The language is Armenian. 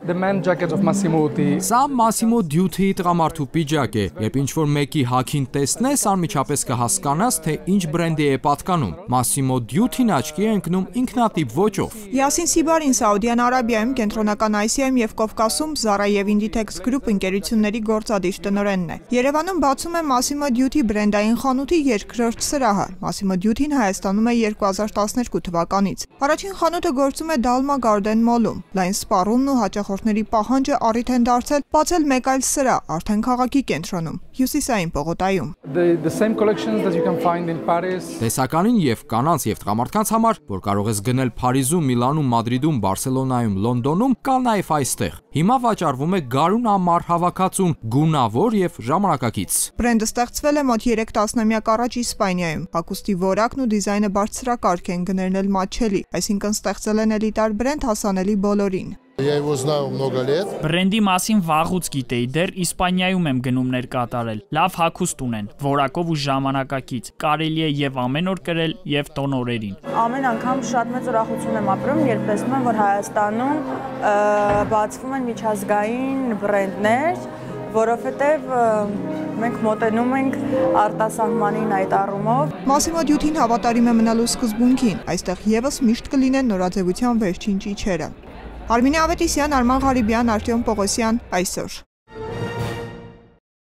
the man jacket of Massimo Dutti. Սա Massimo Dutti-ի տղամարդու պիջակ է, երբ ինչ-որ մեկի հագին տեսնես, անմիջապես կհասկանաս, թե ինչ բրենդի է պատկանում։ Massimo Dutti-ն աչքի է ընկնում ինքնատիպ ոճով։ Յասին Սիբարին Սաուդյան Արաբիայում, Կենտրոնական Ասիայում եւ Կովկասում Zara եւ Inditex Group ընկերությունների գործադիր տնօրենն է։ Երևանում բացում է Massimo Dutti բրենդային խանութի երկրորդ սրահը։ Massimo Dutti-ն Հայաստանում է 2012 թվականից։ Առաջին խանութը գործում է Dalma Garden Mall-ում։ Լայն սպառումն ու հաճախորդների պահանջը առիթ են դարձել բացել մեկ այլ սրահ արդեն քաղաքի կենտրոնում, Հյուսիսային պողոտայում։ The same collections that you can find in Paris. Տեսականին եւ կանանց եւ տղամարդկանց համար, որ կարող ես գնել Փարիզում, Միլանում, Մադրիդում, Բարսելոնայում, Լոնդոնում, կա նաեւ այստեղ։ Հիմա վաճառվում է գարուն ամառ հավաքածուն, գունավոր եւ ժամանակակից։ Բրենդը ստեղծվել է մոտ 3 տասնամյակ առաջ Իսպանիայում։ Հագուստի որակն ու դիզայնը բարձրակարգ են գներնել մատչելի, այսինքն ստեղծել են էլիտար բրենդ հասանելի բոլորին։ Բրենդի մասին վաղուց գիտեի, դեռ Իսպանիայում եմ գնումներ կատարել։ Լավ հագուստ ունեն, որակով ու ժամանակակից։ Կարելի է եւ ամեն օր կրել եւ տոնորերին։ Ամեն անգամ շատ մեծ ուրախություն եմ ապրում, երբ տեսնում եմ, որ Հայաստանում բացվում են միջազգային բրենդներ, որովհետեւ մենք մոտենում ենք արտասահմանին այդ առումով։ Massimo Dutti-ն հավատարիմ է մնալու սկզբունքին, այստեղ եւս միշտ կլինեն նորաձևության վերջին ճիչերը։ Արմինե Ավետիսյան, Արման Ղարիբյան, Արտյոմ Պողոսյան, այսօր։